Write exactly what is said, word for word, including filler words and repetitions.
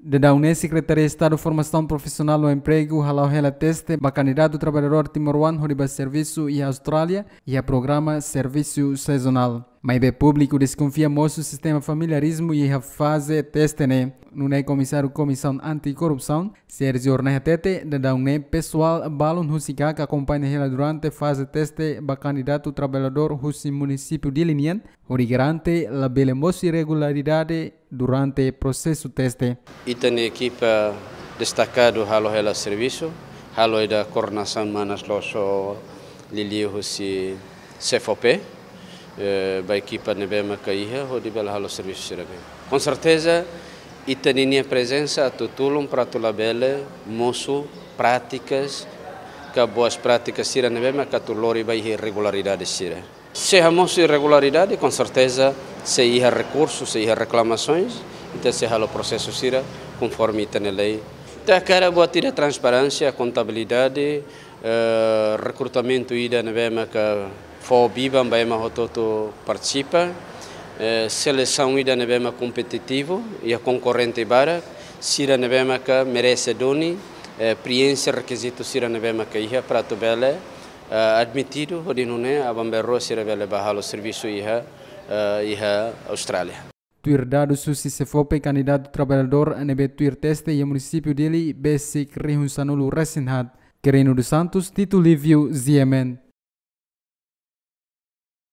Daudaun ne'e Sekretaria Estadu Formasaun Profisionál no Empregu hala'o hela teste ba kandidatu traballadór timoroan hodi ba servisu iha Austrália, iha programa servisu sezonál. Maibé públiku deskonfia mosu sistema familiarizmu iha faze teste ne'e. Nune'e Komisáriu Komisaun Anti-Korrupsaun, Sérgio Horney hatete, daudaun ne'e pesoál balun husi KAK akompaña hela durante faze teste ba kandidatu traballadór husi munisípiu Dili nian, hodi garante labele mosu irregularidade durante prosesu teste. Ita-nia ekipa destakadu halo hela servisu, halo ida koordenasaun manas loos liuliu husi SEFOPE, eh, ba ekipa ne'ebé maka iha, hodi bele halo servisu sira-ne'e. Com certeza, ita-nia prezensa atu tulun para atu labele mosu prátikas ka boas prátikas sira ne'ebé maka atu lori ba iha irregularidade sira. Se hamosu irregularidade, com certeza, se iha rekursu, se iha reklamasoens, ita sei halo prosesu sira konforme ita-nia lei. Ita hakarak buat ida transparénsia, kontabilidade, eh, rekrutamentu ida ne'ebé maka fó biban ba ema hotu-hotu partisipa, eh, selesaun ida ne'ebé maka kompetitivu, iha konkorrente barak, sira ne'ebé maka merese duni, eh, prienxe rekizitu sira ne'ebé maka iha para atu bele, eh, admitidu, hodi nune'e aban-bainrua sira bele ba halo servisu iha, eh, iha Austrália. Tuir dadus husi SEFOPE, kandidatu traballadór ne'ebé tuir teste iha munisípiu Dili besik rihun sanulu-resin-haat. Quirino dos Santos, Tito Lívio, G M N.